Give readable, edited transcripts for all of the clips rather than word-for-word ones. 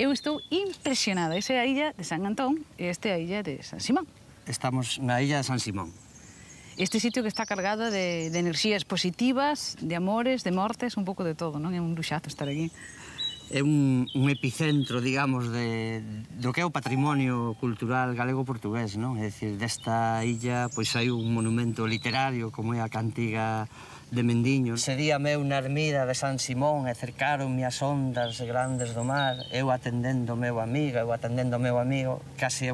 Eu estou impresionada. Esa é a illa de San Antón e esta é a illa de San Simón. Estamos na illa de San Simón. Este sitio que está cargado de enerxías positivas, de amores, de mortes, un pouco de todo, non? É un luxazo estar aquí. É un epicentro, digamos, do que é o patrimonio cultural galego-portugués, non? É dicir, desta illa, pois hai un monumento literario como é a Cantiga de Mendiño. Ese día meu na ermida de San Simón e cercaronme as ondas grandes do mar, eu atendendo o meu amigo, case é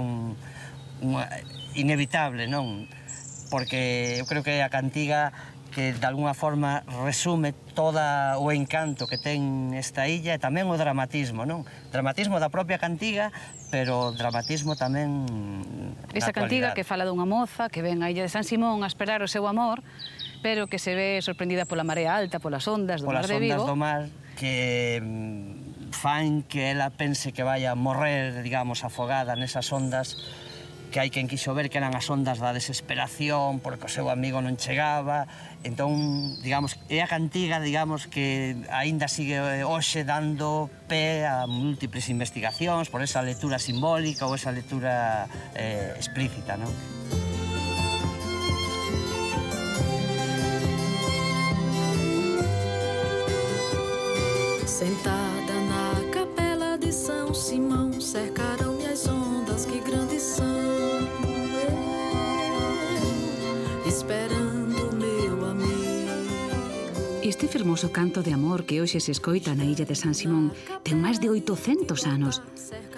inevitable, non? Porque eu creo que a cantiga que de alguna forma resume todo o encanto que ten esta illa e tamén o dramatismo, non? Dramatismo da propia cantiga, pero dramatismo tamén na Esa cantiga que fala dunha moza que ven á illa de San Simón a esperar o seu amor, pero que se ve sorprendida pola marea alta, polas ondas do mar de Vigo. Polas ondas do mar que fan que ela pense que vai a morrer, digamos, afogada nesas ondas, que hai quen quixo ver que eran as ondas da desesperación porque o seu amigo non chegaba. Entón, digamos, é a cantiga, digamos, que aínda sigue hoxe dando pé a múltiples investigacións por esa lectura simbólica ou esa lectura explícita, non? Sentada na capela de São Simão, cercaram-me as ondas que grandes são, esperando meu amigo. Este fermoso canto de amor que hoxe se escoita na illa de San Simón ten máis de 800 anos.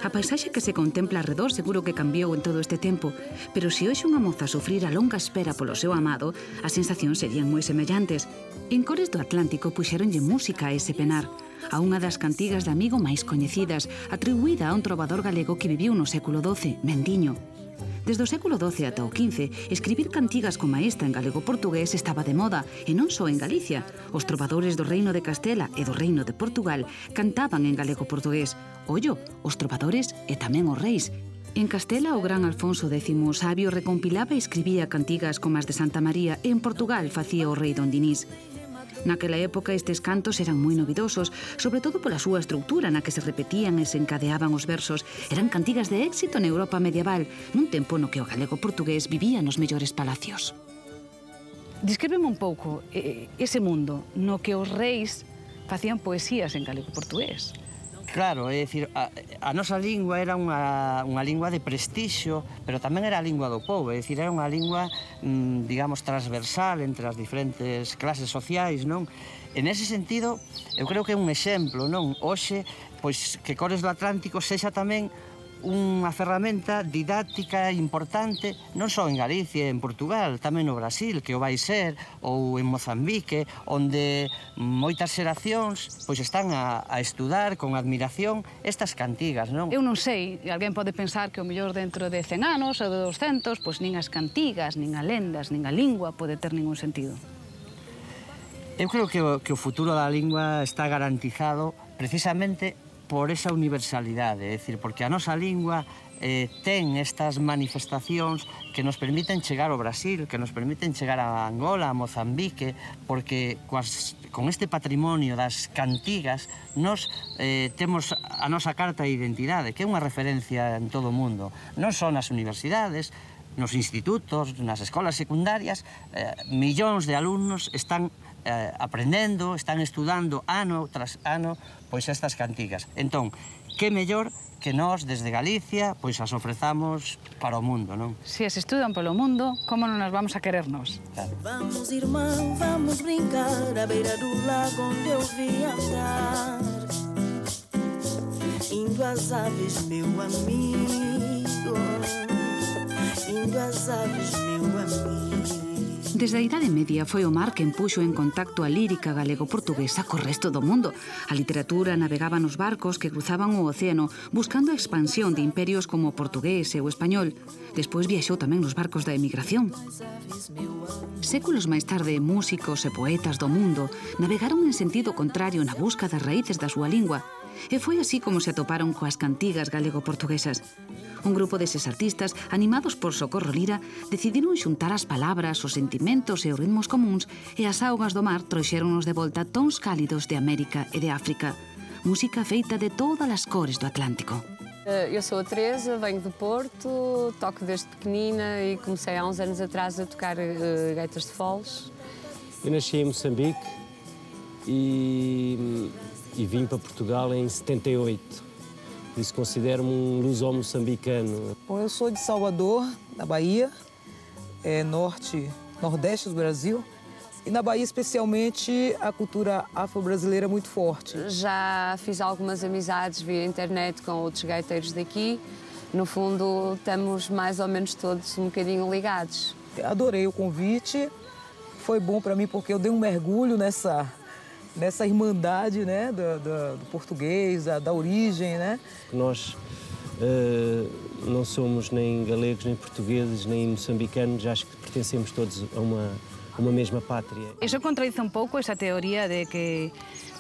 A paisaxe que se contempla arredor seguro que cambiou en todo este tempo, pero se hoxe unha moza sufrir a longa espera polo seu amado, as sensacións serían moi semellantes. En Cores do Atlántico puxéronlle música a ese penar, a unha das cantigas de amigo máis coñecidas, atribuída a un trovador galego que viviu no século XII, Mendiño. Desde o século XII ata o XV, escribir cantigas como esta en galego-portugués estaba de moda, e non só en Galicia. Os trovadores do Reino de Castela e do Reino de Portugal cantaban en galego-portugués. Ollo, os trovadores e tamén os reis. En Castela, o gran Alfonso X o Sabio recompilaba e escribía cantigas como as de Santa María, e en Portugal facía o rei Don Dinís. Naquela época estes cantos eran moi novidosos, sobre todo pola súa estructura na que se repetían e se encadeaban os versos. Eran cantigas de éxito na Europa medieval, nun tempo no que o galego-portugués vivía nos mellores palacios. Descríbeme un pouco ese mundo no que os reis facían poesías en galego-portugués. Claro, é dicir, a nosa lingua era unha lingua de prestixio, pero tamén era a lingua do povo, é dicir, era unha lingua, digamos, transversal entre as diferentes clases sociais, non? En ese sentido, eu creo que é un exemplo, non? Hoxe, pois, que Cores do Atlántico sexa tamén unha ferramenta didáctica importante non só en Galicia e en Portugal, tamén no Brasil, que o vai ser, ou en Mozambique, onde moitas xeracións pois están a estudar con admiración estas cantigas, non? Eu non sei, alguén pode pensar que o mellor dentro de 100 anos ou de 200, pois nin as cantigas, nin as lendas, nin a lingua pode ter ningún sentido. Eu creo que o futuro da lingua está garantizado precisamente por esa universalidade, é dicir, porque a nosa lingua ten estas manifestacións que nos permiten chegar ao Brasil, que nos permiten chegar a Angola, a Mozambique, porque con este patrimonio das cantigas nos temos a nosa carta de identidade, que é unha referencia en todo o mundo, non só nas universidades, nos institutos, nas escolas secundarias, millóns de alumnos están aprendendo, están estudando ano tras ano pois estas cantigas. Entón, que mellor que nós desde Galicia pois as ofrezamos para o mundo, non? Se as estudan polo mundo, como non nas vamos a querernos? Claro. Vamos, irmão, vamos brincar à beira do lago onde eu vi andar, indo às aves, meu amigo, indo às aves, meu amigo. Desde a Idade Media foi o mar quen puxo en contacto a lírica galego-portuguesa co resto do mundo. A literatura navegaba nos barcos que cruzaban o océano buscando a expansión de imperios como o portugués e o español. Despois viaxou tamén nos barcos da emigración. Séculos máis tarde, músicos e poetas do mundo navegaron en sentido contrario na busca das raíces da súa lingua. E foi así como se atoparon coas cantigas galego-portuguesas. Un grupo deses artistas, animados por Socorro Lira, decidiron xuntar as palabras, os sentimentos e os ritmos comuns, e as augas do mar trouxéronos de volta tons cálidos de América e de África. música feita de todas as cores do Atlántico. Eu sou a Teresa, venho do Porto, toco desde pequenina e comecei há uns anos atrás a tocar gaitas de foles. Eu nasci em Moçambique e vim para Portugal em 78. Por isso considero-me um luso-moçambicano. Bom, eu sou de Salvador, na Bahia, nordeste do Brasil. E na Bahia, especialmente, a cultura afro-brasileira é muito forte. Já fiz algumas amizades via internet com outros gaiteiros daqui. No fundo, estamos mais ou menos todos um bocadinho ligados. Adorei o convite. Foi bom para mim porque eu dei um mergulho nessa irmandade, né, do português, da origem, né? Nós não somos nem galegos, nem portugueses, nem moçambicanos. Acho que pertencemos todos a uma mesma pátria. Eso contradice un pouco esa teoría de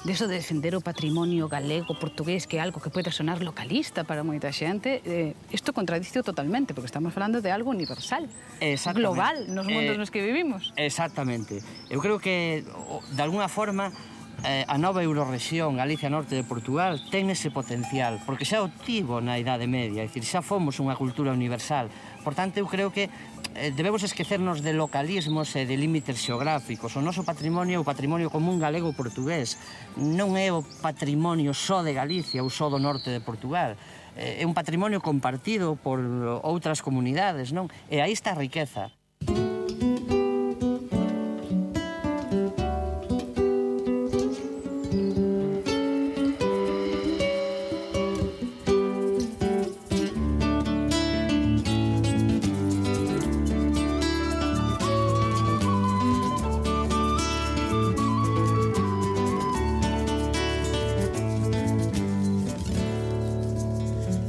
eso de defender o patrimonio galego, portugués, que é algo que pode sonar localista para moita xente. Isto contradice totalmente, porque estamos falando de algo universal, global, nos mundos nos que vivimos. Exactamente. Eu creo que, de alguna forma, a nova Eurorrexión, Galicia Norte de Portugal, ten ese potencial, porque xa o tivo na Idade Media, é dicir, xa fomos unha cultura universal. Por tanto, eu creo que debemos esquecernos de localismos e de límites xeográficos. O noso patrimonio é o patrimonio común galego-portugués. Non é o patrimonio só de Galicia ou só do norte de Portugal. É un patrimonio compartido por outras comunidades, non? E aí está a riqueza.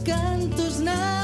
Cantos na